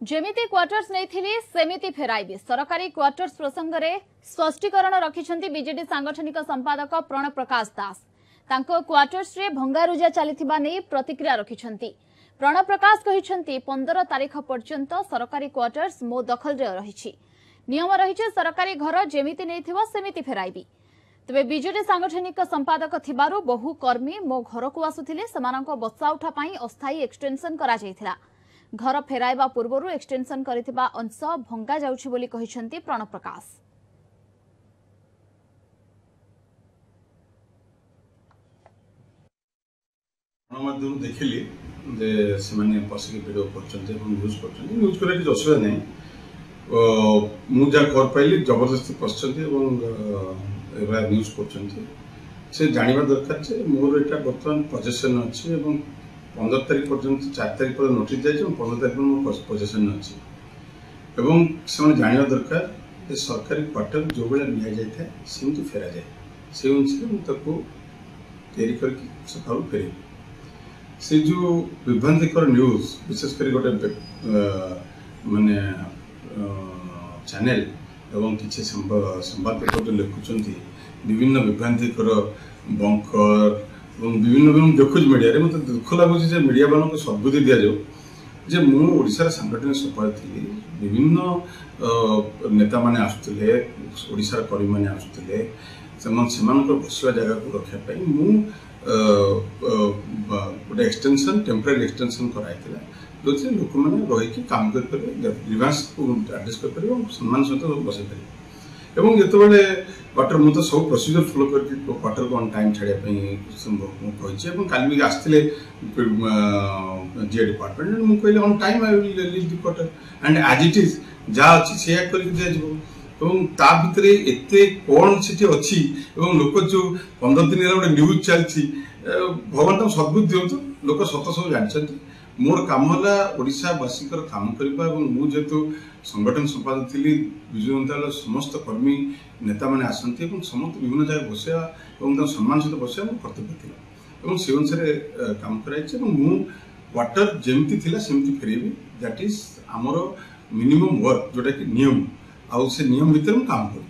ଯେମିତି କ୍ୱାର୍ଟର୍ସ ନେଇଥିଲି ସେମିତି ଫେରାଇବି। ସରକାରୀ କ୍ୱାର୍ଟର୍ସ ପ୍ରସଙ୍ଗରେ ସ୍ପଷ୍ଟୀକରଣ ରଖିଛନ୍ତି ବିଜେଡି ସାଂଗଠନିକ ସମ୍ପାଦକ ପ୍ରଣବ ପ୍ରକାଶ ଦାସ। ତାଙ୍କ କ୍ୱାର୍ଟର୍ସରେ ଭଙ୍ଗାରୁଜା ଚାଲିଥିବା ନେଇ ପ୍ରତିକ୍ରିୟା ରଖିଛନ୍ତି ପ୍ରଣବ ପ୍ରକାଶ। କହିଛନ୍ତି, 15 ତାରିଖ ପର୍ଯ୍ୟନ୍ତ ସରକାରୀ କ୍ୱାର୍ଟର୍ସ ମୋ ଦଖଲରେ ରହିଛି। ନିୟମ ରହିଛି, ସରକାରୀ ଘର ଯେମିତି ନେଇଥିବ ସେମିତି ଫେରାଇବି। ତେବେ ବିଜେଡି ସାଂଗଠନିକ ସମ୍ପାଦକ ଥିବାରୁ ବହୁ କର୍ମୀ ମୋ ଘରକୁ ଆସୁଥିଲେ। ସେମାନଙ୍କ ବସାଉଠା ପାଇଁ ଅସ୍ଥାୟୀ ଏକ୍ସଟେନସନ କରାଯାଇଥିଲା। ଘର ଫେରାଇବା ପୂର୍ବରୁ ଏକ୍ସଟେନସନ କରିଥିବା ଅଂଶ ଭଙ୍ଗା ଯାଉଛି ବୋଲି କହିଛନ୍ତି ପ୍ରଣବ ପ୍ରକାଶ। ଗଣମାଧ୍ୟମରୁ ଦେଖିଲି ଯେ ସେମାନେ ପଶିକି ଭିଡ଼ିଓ କରୁଛନ୍ତି ଏବଂ ନ୍ୟୁଜ୍ କରୁଛନ୍ତି। ନ୍ୟୁଜ୍ କରିବା କିଛି ଅସୁବିଧା ନାହିଁ। ମୁଁ ଯାହା ଖବର ପାଇଲି, ଜବରଦସ୍ତି ପଶିଛନ୍ତି ଏବଂ ଏଭଳିଆ ନ୍ୟୁଜ୍ କରୁଛନ୍ତି। ସେ ଜାଣିବା ଦରକାର ଯେ ମୋର ଏଇଟା ବର୍ତ୍ତମାନ ପଜେସନ୍ ଅଛି ଏବଂ 15 ତାରିଖ ପର୍ଯ୍ୟନ୍ତ, 4 ତାରିଖ ପର୍ଯ୍ୟନ୍ତ ନୋଟିସ୍ ଯାଇଛି ଏବଂ 15 ତାରିଖ ପର୍ଯ୍ୟନ୍ତ ମୋ ପଜେସନ୍ ଅଛି। ଏବଂ ସେମାନେ ଜାଣିବା ଦରକାର ଯେ ସରକାରୀ କ୍ୱାର୍ଟର ଯେଉଁଭଳିଆ ନିଆଯାଇଥାଏ ସେମିତି ଫେରାଯାଏ। ସେଇ ଅନୁସାରେ ମୁଁ ତାକୁ ତିଆରି କରିକି ସକାଳୁ ଫେରେଇବି। ସେ ଯେଉଁ ବିଭ୍ରାନ୍ତିକର ନ୍ୟୁଜ୍, ବିଶେଷ କରି ଗୋଟେ ମାନେ ଚ୍ୟାନେଲ ଏବଂ କିଛି ସମ୍ବାଦପତ୍ର ଯେଉଁ ଲେଖୁଛନ୍ତି ବିଭିନ୍ନ ବିଭ୍ରାନ୍ତିକର ବଙ୍କର ଏବଂ ବିଭିନ୍ନ ମୁଁ ଦେଖୁଛି ମିଡ଼ିଆରେ, ମୋତେ ଦୁଃଖ ଲାଗୁଛି ଯେ ମିଡ଼ିଆବାଲାଙ୍କୁ ସଦ୍ବୁଦ୍ଧି ଦିଆଯାଉ ଯେ ମୁଁ ଓଡ଼ିଶାର ସାଂଗଠନିକ ସମ୍ପାଦକ ଥିଲି। ବିଭିନ୍ନ ନେତାମାନେ ଆସୁଥିଲେ, ଓଡ଼ିଶାର କର୍ମୀମାନେ ଆସୁଥିଲେ। ସେମାନେ ସେମାନଙ୍କର ବସିବା ଜାଗାକୁ ରଖିବା ପାଇଁ ମୁଁ ଗୋଟେ ଏକ୍ସଟେନସନ୍, ଟେମ୍ପୋରାରୀ ଏକ୍ସଟେନସନ୍ କରାହେଇଥିଲା, ଯେଉଁଥିରେ ଲୋକମାନେ ରହିକି କାମ କରିପାରିବେ, ଗ୍ରିଭାନ୍ସକୁ ଆଡ୍ରେସ୍ କରିପାରିବେ ଏବଂ ସମ୍ମାନ ସହିତ ବସାଇ ପାରିବେ। ଏବଂ ଯେତେବେଳେ କ୍ୱାର୍ଟର, ମୁଁ ତ ସବୁ ପ୍ରୋସିଜର ଫଲୋ କରିକି କ୍ୱାର୍ଟରକୁ ଅନ୍ ଟାଇମ୍ ଛାଡ଼ିବା ପାଇଁ ମୁଁ କହିଛି। ଏବଂ କାଲି ବି ଆସିଥିଲେ ଜିଏ ଡିପାର୍ଟମେଣ୍ଟ, ମୁଁ କହିଲି on time I will leave the quarter and as it is, ଯାହା ଅଛି ସେଇଆ କରିକି ଦିଆଯିବ। ଏବଂ ତା ଭିତରେ ଏତେ କ'ଣ ସେଠି ଅଛି ଏବଂ ଲୋକ ଯେଉଁ 15 ଦିନ ହେଲା ଗୋଟେ ନ୍ୟୁଜ୍ ଚାଲିଛି, ଭଗବାନ ତାଙ୍କୁ ସଦ୍ବୁଦ୍ଧି ଦିଅନ୍ତୁ। ଲୋକ ସତ ସବୁ ଜାଣିଛନ୍ତି। ମୋର କାମ ହେଲା ଓଡ଼ିଶାବାସୀଙ୍କର କାମ କରିବା ଏବଂ ମୁଁ ଯେହେତୁ ସଂଗଠନ ସମ୍ପାଦକ ଥିଲି, ବିଜୁ ଜନତା ଦଳର ସମସ୍ତ କର୍ମୀ ନେତାମାନେ ଆସନ୍ତି ଏବଂ ସମସ୍ତେ ବିଭିନ୍ନ ଜାଗାରେ ବସିବା ଏବଂ ତାଙ୍କ ସମ୍ମାନ ସହିତ ବସିବା ମୋ କର୍ତ୍ତବ୍ୟ ଥିଲା ଏବଂ ସେ ଅନୁସାରେ କାମ କରାଯାଇଛି। ଏବଂ ମୁଁ କ୍ୱାର୍ଟର ଯେମିତି ଥିଲା ସେମିତି ଫେରେଇବି। That is ଆମର ମିନିମମ୍ ୱାର୍କ, ଯେଉଁଟାକି ନିୟମ, ଆଉ ସେ ନିୟମ ଭିତରେ ମୁଁ କାମ କରିବି।